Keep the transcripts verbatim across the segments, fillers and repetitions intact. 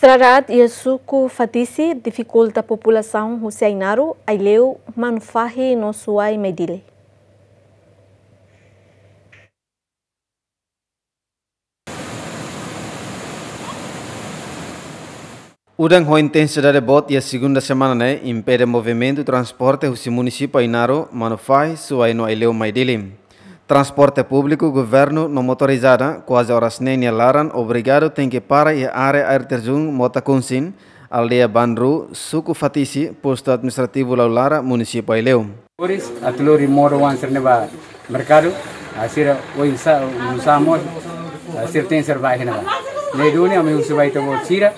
Estrada aat iha suku Fatisi difikulta populasaun husi Ainaro, Aileu, Manufahi no Suai Maidili. Udan ho intensidade boot iha segunda semana ne'e impede movimentu transporte husi munisípiu Ainaro, Manufahi, Suai no Aileu Maidili. Transporte públiku, governu no motorizada kuaze oras neen nia laran obrigadu tenke para iha área air terjun Mota Kunsin, aldeia Banru, suku Fatisi, postu administrativu Laulara, munisípiu Aileu. Moris atu lori modo-oan sira-ne'e ba merkadu, ah, sira oinsá, oinsá mós, ah, sira tenke ser ba iha ne'ebá. Ne'e duni ami husu ba ita-boot sira,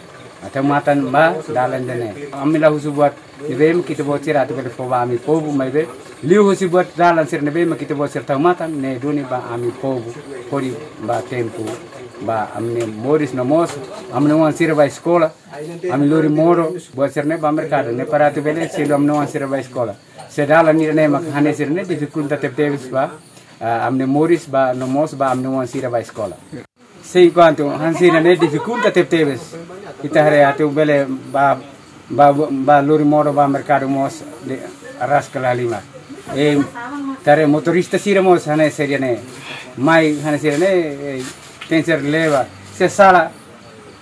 ah, tau matan ba dalan ida-ne'e. Ami la husu buat ne'ebé mak ita-boot sira atu bele fó ba ami povu, maibé liuhusi buat dalan sira ne'ebé mak ita-boot sira tau matan, ne'e duni ba ami povu hodi bá tempu ba ami-nia moris no mós ami-nia oan sira ba eskola. Ami lori modo, buat sira-ne'e ba merkadu, ne'e para atu bele selu ami-nia oan sira ba eskola. Se dalan ida-ne'e mak hanesan ne'e difikulta tebetebes ba, ah, ami-nia moris ba no mós ba ami-nia oan sira ba eskola. Se enkuantu hanesan ne'e difikulta tebetebes, ita haree atu bele ba, ba, ba lori modo ba merkadu mós de araska la halimar. E, ita haree motorista sira mós hanesan ne'e. Mai hanesan ne'e, e, tenke ser leba. Se sala,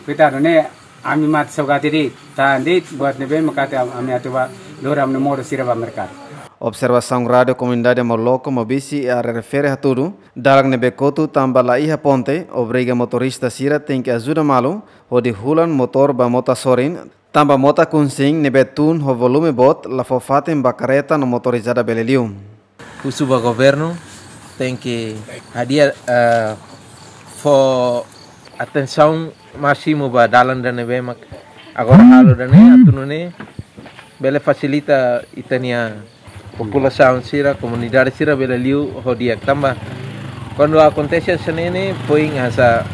koitadu, ne'e ami mate saugati de'it, tahan de'it buat ne'ebé mak atu ami atu ba lori ami-nia modo sira ba merkadu. Observasaun Rádiu Komunidade Moloko, Mobisi, iha área refere hatudu, dalan ne'ebé kotu tanba la iha ponte, obriga motorista sira tenke ajuda malu, hodi hulan motór ba mota sorin, tanba Mota Kunsin ne'ebé tun ho volume boot, la fó fatin ba kareta no motorizada bele liu. Husu ba governu, tenke hadi'a, eh, fó atensaun másimu ba dalan ida-ne'ebé mak agora halo ida-ne'e, atu nune'e bele fasilita ita-nia populasaun sira, komunidade sira bele liu ho di'ak tanba kuandu akontese hanesan ne'e, foin hanesan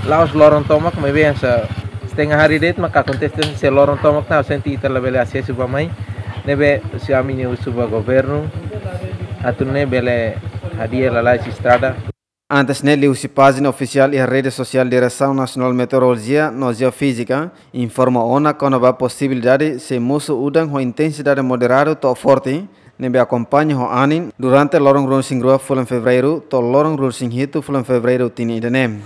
la'ós loron tomak, maibé hanesan setengah hari de'it maka akontese, se loron tomak ita sente ita labele asesu ba mai, ne'ebé husi ami-nia husu ba governu, atu nune'e bele hadi'a lalais estrada. Antes ne'e liuhusi pájina ofisiál iha rede sosiál Diresaun Nasionál Meteorolojia no Jeofízika informa ona kona-ba posibilidade sei mosu udan ho intensidade moderadu to'o forte, ne'ebé akompaña ho anin durante loron ruanulu-resin-rua fulan Fevereiru to'o loron ruanulu-resin-hitu fulan Fevereiru tinan ida-ne'e.